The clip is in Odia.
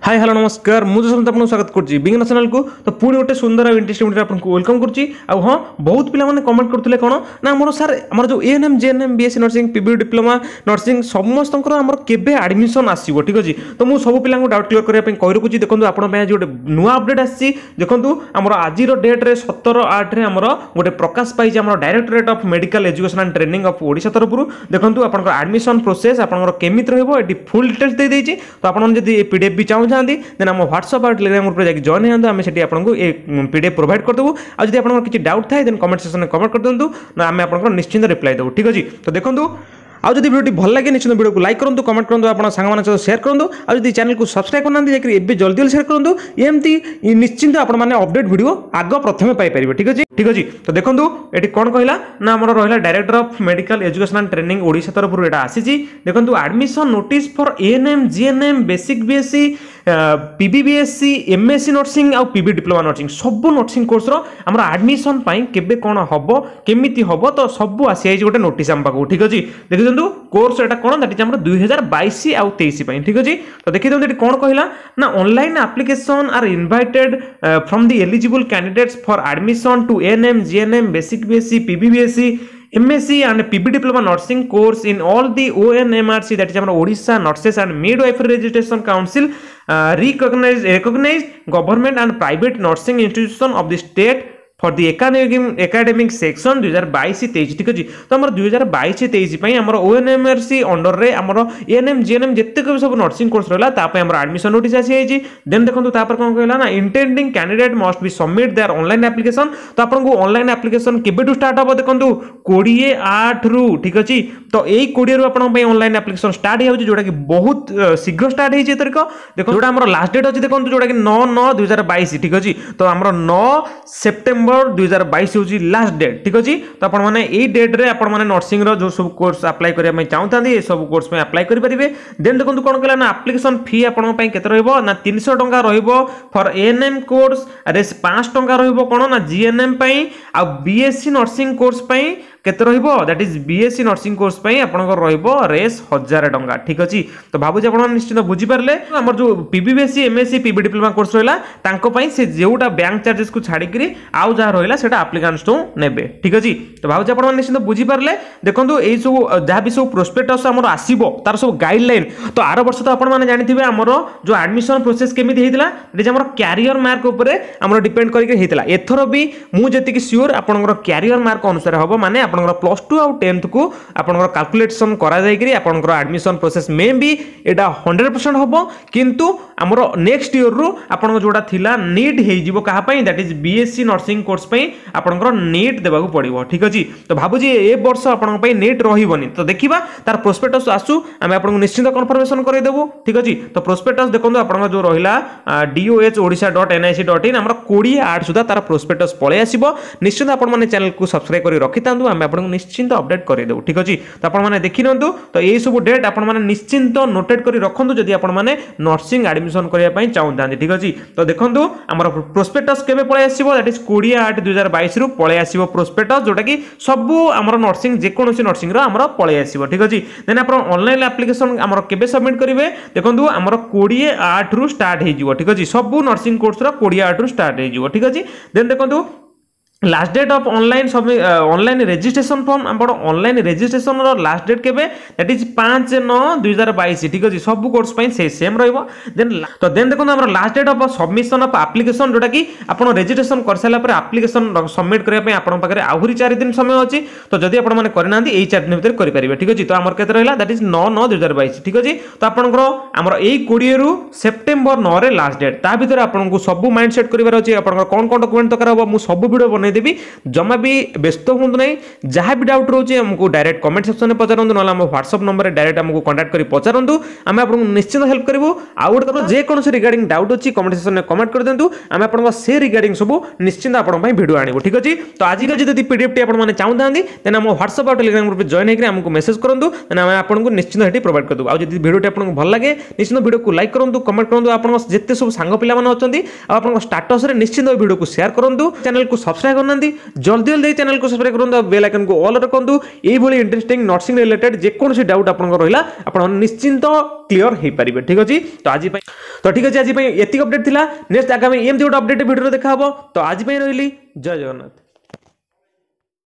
ହାଇ, ହ୍ୟାଲୋ, ନମସ୍କାର। ମୁଁ ଯଶବନ୍ତ ଆପଣଙ୍କୁ ସ୍ୱାଗତ କରୁଛି ବିଜ୍ଞାନ ଚ୍ୟାନେଲକୁ। ତ ପୁଣି ଗୋଟେ ସୁନ୍ଦର ଆଉ ଇଣ୍ଟରେଷ୍ଟିଂ ଭିଡ଼ିଓ ଆପଣଙ୍କୁ welcome କରୁଛି। ଆଉ ହଁ, ବହୁତ ପିଲାମାନେ କମେଣ୍ଟ କରୁଥିଲେ କ'ଣ ନା, ଆମର ସାର୍, ଆମର ଯେଉଁ ANM, GNM, BSc nursing, P B diploma nursing ସମସ୍ତଙ୍କର ଆମର କେବେ ଆଡ଼ମିସନ୍ ଆସିବ? ଠିକ୍ ଅଛି। ତ ମୁଁ ସବୁ ପିଲାଙ୍କୁ ଡାଉଟ୍ କ୍ଲିୟର କରିବା ପାଇଁ କହି ରଖୁଛି। ଦେଖନ୍ତୁ, ଆପଣଙ୍କ ପାଇଁ ଆଜି ଗୋଟେ ନୂଆ ଅପଡେଟ୍ ଆସିଛି। ଦେଖନ୍ତୁ, ଆମର ଆଜିର ଡେଟ୍ରେ 17/8ରେ ଆମର ଗୋଟେ ପ୍ରକାଶ ପାଇଛି ଆମର Directorate of Medical Education and Training of Odisha ତରଫରୁ। ଦେଖନ୍ତୁ, ଆପଣଙ୍କର ଆଡ଼ମିସନ୍ ପ୍ରୋସେସ୍ ଆପଣଙ୍କର କେମିତି ରହିବ, ଏଠି ଫୁଲ୍ ଡିଟେଲ୍ସ ଦେଇଦେଇଛି। ତ ଆପଣ ଯଦି ଏ ପିଡିଏଫ୍ ବି ଚାହୁଁଛନ୍ତି, ଦେନ୍ ଆମ ହ୍ୱାଟ୍ସଆପ୍ ଆଉ ଟେଲିଗ୍ରାମ ଗ୍ରୁପରେ ଯାଇକି ଜଏନ୍ ହେଇଯାନ୍ତୁ। ଆମେ ସେଠି ଆପଣଙ୍କୁ ଏ ପିଡିଏଫ୍ ପ୍ରୋଭାଇଡ଼ କରିଦେବୁ। ଆଉ ଯଦି ଆପଣଙ୍କର କିଛି ଡାଉଟ୍ ଥାଏ, ଦେନ୍ କମେଣ୍ଟ ସେକ୍ସନରେ କମେଣ୍ଟ କରିଦିଅନ୍ତୁ ନା, ଆମେ ଆପଣଙ୍କର ନିଶ୍ଚିନ୍ତ ରିପ୍ଲାଏ ଦେବୁ। ଠିକ୍ ଅଛି। ତ ଦେଖନ୍ତୁ, ଆଉ ଯଦି ଭିଡ଼ିଓଟି ଭଲ ଲାଗେ, ନିଶ୍ଚିତ ଭିଡ଼ିଓକୁ ଲାଇକ୍ କରନ୍ତୁ, କମେଣ୍ଟ କରନ୍ତୁ, ଆପଣ ସାଙ୍ଗମାନଙ୍କ ସହିତ ସେୟାର କରନ୍ତୁ। ଆଉ ଯଦି ଚ୍ୟାନେଲକୁ ସବସ୍କ୍ରାଇବ୍ କରିନାହାନ୍ତି, ଯାଇକି ଏବେ ଜଲ୍ଦି ଜଲ୍ଦି ସେୟାର କରନ୍ତୁ। ଏମିତି ନିଶ୍ଚିନ୍ତ ଆପଣମାନେ ଅପଡେଟ୍ ଭିଡ଼ିଓ ଆଗ ପ୍ରଥମେ ପାଇପାରିବେ। ଠିକ୍ ଅଛି, ଠିକ୍ ଅଛି। ତ ଦେଖନ୍ତୁ, ଏଠି କ'ଣ କହିଲା ନା, ଆମର ରହିଲା Director of Medical Education and Training Odisha ତରଫରୁ ଏଇଟା ଆସିଛି। ଦେଖନ୍ତୁ, admission notice for ANM, GNM, basic BSc, PBBSc, MSc nursing ଆଉ ପିବି ଡିପ୍ଲୋମା ନର୍ସିଂ, ସବୁ ନର୍ସିଂ କୋର୍ସର ଆମର ଆଡମିସନ୍ ପାଇଁ କେବେ କ'ଣ ହେବ, କେମିତି ହେବ, ତ ସବୁ ଆସିଯାଇଛି ଗୋଟେ ନୋଟିସ୍ ଆମ ପାଖକୁ। ଠିକ୍ ଅଛି। ଦେଖିଦିଅନ୍ତୁ, କୋର୍ସ ଏଟା କ'ଣ? That is ଆମର 2022 ଆଉ 23 ପାଇଁ। ଠିକ୍ ଅଛି। ତ ଦେଖିଦିଅନ୍ତୁ, ଏଠି କ'ଣ କହିଲା ନା, online application are invited from the eligible candidates for admission to ANM, GNM, basic BSc, PBBSc, MSc and PB Diploma Nursing course in all the ONMRC, that is ଆମର Odisha Nurses and Midwifery Registration Council recognized government and private nursing institution of the state for the academic session 2022-23। ଠିକ୍ ଅଛି। ତ ଆମର 2022-23 ପାଇଁ ଆମର ଓଏନ୍ଏମ୍ଆରସି ଅଣ୍ଡରରେ ଆମର ଏଏନ୍ଏମ୍, ଜିଏନ୍ଏମ୍ ଯେତେକ ବି ସବୁ ନର୍ସିଂ କୋର୍ସ ରହିଲା, ତା ପାଇଁ ଆମର ଆଡମିସନ୍ ନୋଟିସ୍ ଆସିଯାଇଛି। ଦେନ୍ ଦେଖନ୍ତୁ, ତାପରେ କ'ଣ କହିଲା ନା, intending candidate must be submit their online application। ତ ଆପଣଙ୍କୁ ଅନଲାଇନ୍ ଆପ୍ଲିକେସନ୍ କେବେଠୁ ଷ୍ଟାର୍ଟ ହେବ? ଦେଖନ୍ତୁ, 20/8ରୁ। ଠିକ୍ ଅଛି। ତ ଏଇ 20ରୁ ଆପଣଙ୍କ ପାଇଁ ଅନଲାଇନ୍ ଆପ୍ଲିକେସନ୍ ଷ୍ଟାର୍ଟ ହେଇଯାଉଛି, ଯୋଉଟାକି ବହୁତ ଶୀଘ୍ର ଷ୍ଟାର୍ଟ ହେଇଛି ଏଥରିକ। ଦେଖନ୍ତୁ, ଯୋଉଟା ଆମର ଲାଷ୍ଟ ଡେଟ୍ ଅଛି, ଦେଖନ୍ତୁ, ଯୋଉଟାକି 9/9/2022। ଠିକ୍ ଅଛି। ତ ଆମର 9 ସେପ୍ଟେମ୍ବର 2022 ହେଉଛି ଲାଷ୍ଟ ଡେଟ୍। ଠିକ୍ ଅଛି। ତ ଆପଣମାନେ ଏଇ ଡେଟ୍ରେ ଆପଣମାନେ ନର୍ସିଂର ଯେଉଁ ସବୁ କୋର୍ସ ଆପ୍ଲାଏ କରିବା ପାଇଁ ଚାହୁଁଥାନ୍ତି, ଏସବୁ କୋର୍ସ ପାଇଁ ଆପ୍ଲାଏ କରିପାରିବେ। ଦେନ୍ ଦେଖନ୍ତୁ, କ'ଣ କହିଲା ନା, ଆପ୍ଲିକେସନ୍ ଫି ଆପଣଙ୍କ ପାଇଁ କେତେ ରହିବ ନା, 300 ଟଙ୍କା ରହିବ ଫର୍ ଏଏନ୍ଏମ୍ କୋର୍ସ, ରେସ୍ 500 ଟଙ୍କା ରହିବ କ'ଣ ନା ଜିଏନ୍ଏମ୍ ପାଇଁ। ଆଉ ବିଏସ୍ସି ନର୍ସିଂ କୋର୍ସ ପାଇଁ କେତେ ରହିବ? That is BSc nursing course ପାଇଁ ଆପଣଙ୍କର ରହିବ ରେସ୍ 1000 ଟଙ୍କା। ଠିକ୍ ଅଛି। ତ ଭାବୁଛି ଆପଣମାନେ ନିଶ୍ଚିତ ବୁଝିପାରିଲେ। ଆମର ଯେଉଁ ପିବିବିଏସ୍ସି, ଏମ୍ଏସ୍ସି, ପିବି ଡିପ୍ଲୋମା କୋର୍ସ ରହିଲା, ତାଙ୍କ ପାଇଁ ସେ ଯେଉଁଟା ବ୍ୟାଙ୍କ ଚାର୍ଜେସକୁ ଛାଡ଼ିକିରି ଆଉ ଯାହା ରହିଲା, ସେଇଟା ଆପ୍ଲିକାଣ୍ଟଠୁ ନେବେ। ଠିକ୍ ଅଛି। ତ ଭାବୁଛି ଆପଣମାନେ ନିଶ୍ଚିତ ବୁଝିପାରିଲେ। ଦେଖନ୍ତୁ, ଏଇ ସବୁ ଯାହା ବି ସବୁ ପ୍ରୋସ୍ପେକ୍ଟସ୍ ଆମର ଆସିବ, ତାର ସବୁ ଗାଇଡଲାଇନ୍। ତ ଆର ବର୍ଷ ତ ଆପଣମାନେ ଜାଣିଥିବେ, ଆମର ଯେଉଁ ଆଡମିସନ୍ ପ୍ରୋସେସ୍ କେମିତି ହେଇଥିଲା। ଏଠି ଆମର କ୍ୟାରିୟର ମାର୍କ ଉପରେ ଆମର ଡିପେଣ୍ଡ କରିକି ହେଇଥିଲା। ଏଥର ବି ମୁଁ ଯେତିକି ସିଓର, ଆପଣଙ୍କର କ୍ୟାରିୟର ମାର୍କ ଅନୁସାରେ ହେବ। ମାନେ ଆପଣଙ୍କର ପ୍ଲସ୍ ଟୁ ଆଉ ଟେନ୍ଥକୁ ଆପଣଙ୍କର କାଲକୁଲେସନ୍ କରାଯାଇକିରି ଆପଣଙ୍କର ଆଡମିସନ୍ ପ୍ରୋସେସ୍ ମେ ବି ଏଇଟା 100% ହେବ। କିନ୍ତୁ ଆମର ନେକ୍ସଟ ଇୟରରୁ ଆପଣଙ୍କ ଯେଉଁଟା ଥିଲା, ନିଟ୍ ହେଇଯିବ। କାହା ପାଇଁ? That is BSc nursing course ପାଇଁ ଆପଣଙ୍କର ନିଟ୍ ଦେବାକୁ ପଡ଼ିବ। ଠିକ୍ ଅଛି। ତ ଭାବୁଛି ଏ ବର୍ଷ ଆପଣଙ୍କ ପାଇଁ ନିଟ୍ ରହିବନି। ତ ଦେଖିବା, ତାର ପ୍ରୋସ୍ପେକ୍ଟସ୍ ଆସୁ, ଆମେ ଆପଣଙ୍କୁ ନିଶ୍ଚିନ୍ତ କନଫର୍ମେସନ୍ କରାଇଦେବୁ। ଠିକ୍ ଅଛି। ତ ପ୍ରୋସ୍ପେକ୍ଟସ୍ ଦେଖନ୍ତୁ, ଆପଣଙ୍କ ଯେଉଁ ରହିଲା doh odisha.nic.in, ଆମର 20/8 ସୁଦ୍ଧା ତାର ପ୍ରୋସ୍ପେକ୍ଟସ୍ ପଳେଇ ଆସିବ। ନିଶ୍ଚିନ୍ତ ଆପଣମାନେ ଚ୍ୟାନେଲକୁ ସବସ୍କ୍ରାଇବ୍ କରି ରଖିଥାନ୍ତୁ, ଆମେ ଆପଣଙ୍କୁ ନିଶ୍ଚିନ୍ତ ଅପଡେଟ୍ କରାଇଦେବୁ। ଠିକ୍ ଅଛି। ତ ଆପଣମାନେ ଦେଖିନିଅନ୍ତୁ। ତ ଏଇସବୁ ଡେଟ୍ ଆପଣମାନେ ନିଶ୍ଚିନ୍ତ ନୋଟେଡ୍ କରି ରଖନ୍ତୁ, ଯଦି ଆପଣମାନେ ନର୍ସିଂ ଆଡମିସନ୍ କରିବା ପାଇଁ ଚାହୁଁଥାନ୍ତି। ଠିକ୍ ଅଛି। ତ ଦେଖନ୍ତୁ, ଆମର ପ୍ରୋସ୍ପେକ୍ଟସ୍ କେବେ ପଳେଇ ଆସିବ? That is 20/8/2022ରୁ ପଳେଇ ଆସିବ ପ୍ରୋସ୍ପେକ୍ଟସ୍, ଯୋଉଟାକି ସବୁ ଆମର ନର୍ସିଂ, ଯେକୌଣସି ନର୍ସିଂର ଆମର ପଳେଇ ଆସିବ। ଠିକ୍ ଅଛି। ଦେନ୍ ଆପଣ ଅନଲାଇନ୍ ଆପ୍ଲିକେସନ୍ ଆମର କେବେ ସବମିଟ୍ କରିବେ? ଦେଖନ୍ତୁ, ଆମର 20/8ରୁ ଷ୍ଟାର୍ଟ ହେଇଯିବ। ଠିକ୍ ଅଛି। ସବୁ ନର୍ସିଂ କୋର୍ସର 20/8ରୁ ଷ୍ଟାର୍ଟ ହେଇଯିବ। ଠିକ୍ ଅଛି। ଦେନ୍ ଦେଖନ୍ତୁ, last date of online registration form, ଆପଣ ଅନଲାଇନ୍ ରେଜିଷ୍ଟ୍ରେସନର ଲାଷ୍ଟ ଡେଟ୍ କେବେ? That is 5/9/2022। ଠିକ୍ ଅଛି। ସବୁ କୋର୍ସ ପାଇଁ ସେ ସେମ୍ ରହିବ। ଦେନ୍ ତ ଦେନ୍ ଦେଖନ୍ତୁ, ଆମର last date of submission of application, ଯୋଉଟାକି ଆପଣ ରେଜିଷ୍ଟ୍ରେସନ କରିସାରିଲା ପରେ ଆପ୍ଲିକେସନ୍ ସବମିଟ୍ କରିବା ପାଇଁ ଆପଣଙ୍କ ପାଖରେ ଆହୁରି 4 ଦିନ ସମୟ ଅଛି। ତ ଯଦି ଆପଣମାନେ କରିନାହାନ୍ତି, ଏଇ 4 ଦିନ ଭିତରେ କରିପାରିବେ। ଠିକ୍ ଅଛି। ତ ଆମର କେତେ ରହିଲା? That is 9/9/2022। ଠିକ୍ ଅଛି। ତ ଆପଣଙ୍କର ଆମର ଏଇ 20ରୁ ସେପ୍ଟେମ୍ବର 9ରେ ଲାଷ୍ଟ ଡେଟ୍। ତା ଭିତରେ ଆପଣଙ୍କୁ ସବୁ ମାଇଣ୍ଡ ସେଟ୍ କରିବାର ଅଛି। ଆପଣଙ୍କର କ'ଣ କ'ଣ ଡକୁମେଣ୍ଟ ଦରକାର ହେବ, ମୁଁ ସବୁ ଭିଡ଼ିଓ ବନେଇଦେବି। ଜମା ବି ବ୍ୟସ୍ତ ହୁଅନ୍ତୁ ନାହିଁ। ଯାହା ବି ଡାଉଟ୍ ରହୁଛି, ଆମକୁ ଡାଇରେକ୍ଟ କମେଣ୍ଟ ସେକ୍ସନରେ ପଚାରନ୍ତୁ, ନହେଲେ ଆମ ହ୍ୱାଟ୍ସଆପ୍ ନମ୍ବରରେ ଡାଇରେକ୍ଟ ଆମକୁ କଣ୍ଟାକ୍ଟ କରି ପଚାରନ୍ତୁ। ଆମେ ଆପଣଙ୍କୁ ନିଶ୍ଚିତ ହେଲ୍ପ କରିବୁ। ଆଉ ଗୋଟେ କଥା, ଯେକୌଣସି ରିଗାର୍ଡିଂ ଡାଉଟ୍ ଅଛି, କମେଣ୍ଟ ସେକ୍ସନରେ କମେଣ୍ଟ କରିଦିଅନ୍ତୁ। ଆମେ ଆପଣଙ୍କ ସେ ରିଗାର୍ଡିଂ ସବୁ ନିଶ୍ଚିନ୍ତ ଆପଣଙ୍କ ପାଇଁ ଭିଡ଼ିଓ ଆଣିବୁ। ଠିକ୍ ଅଛି। ତ ଆଜିକା ଯଦି ପିଡିଏଫ୍ଟି ଆପଣମାନେ ଚାହୁଁଥାନ୍ତି, ଦେନ୍ ଆମ ହ୍ୱାଟ୍ସଆପ୍ ଆଉ ଟେଲିଗ୍ରାମ ଗ୍ରୁପରେ ଜଏନ୍ ହେଇକି ଆମକୁ ମେସେଜ୍ କରନ୍ତୁ। ଦେନ୍ ଆମେ ଆପଣଙ୍କୁ ନିଶ୍ଚିନ୍ତ ସେଠି ପ୍ରୋଭାଇଡ଼ କରିଦେବୁ। ଆଉ ଯଦି ଭିଡ଼ିଓଟି ଆପଣଙ୍କୁ ଭଲ ଲାଗେ, ନିଶ୍ଚିନ୍ତ ଭିଡ଼ିଓକୁ ଲାଇକ୍ କରନ୍ତୁ, କମେଣ୍ଟ କରନ୍ତୁ। ଆପଣଙ୍କ ଯେତେ ସବୁ ସାଙ୍ଗ ପିଲାମାନେ ଅଛନ୍ତି ଆଉ ଆପଣଙ୍କ ଷ୍ଟାଟସରେ ନିଶ୍ଚିନ୍ତ ଭିଡ଼ିଓକୁ ସେୟାର କରନ୍ତୁ। ଚ୍ୟାନେଲକୁ ସବସ୍କ୍ରାଇବ୍ କରିନାହାନ୍ତି, ଜଲ୍ଦି ଜଲ୍ଦି ଚ୍ୟାନେଲକୁ ସବସ୍କ୍ରାଇବ୍ କରନ୍ତୁ ଆଉ ବେଲ୍ ଆଇକନ୍କୁ ଅଲ୍ ରଖନ୍ତୁ। ଏଇଭଳି ଇଣ୍ଟରେଷ୍ଟିଂ ନର୍ସିଂ ରିଲେଟେଡ୍ ଯେକୌଣସି ଡାଉଟ୍ ଆପଣଙ୍କର ରହିଲା, ଆପଣ ନିଶ୍ଚିନ୍ତ କ୍ଲିୟର ହେଇପାରିବେ। ଠିକ୍ ଅଛି। ତ ଆଜି ପାଇଁ ତ ଠିକ୍ ଅଛି, ଆଜି ପାଇଁ ଏତିକି ଅପଡେଟ୍ ଥିଲା। ନେକ୍ସଟ ଆଗାମୀ ଏମିତି ଗୋଟେ ଅପଡେଟ୍ ଭିଡ଼ିଓ ଦେଖା ହେବ। ତ ଆଜି ପାଇଁ ରହିଲି, ଜୟ ଜଗନ୍ନାଥ।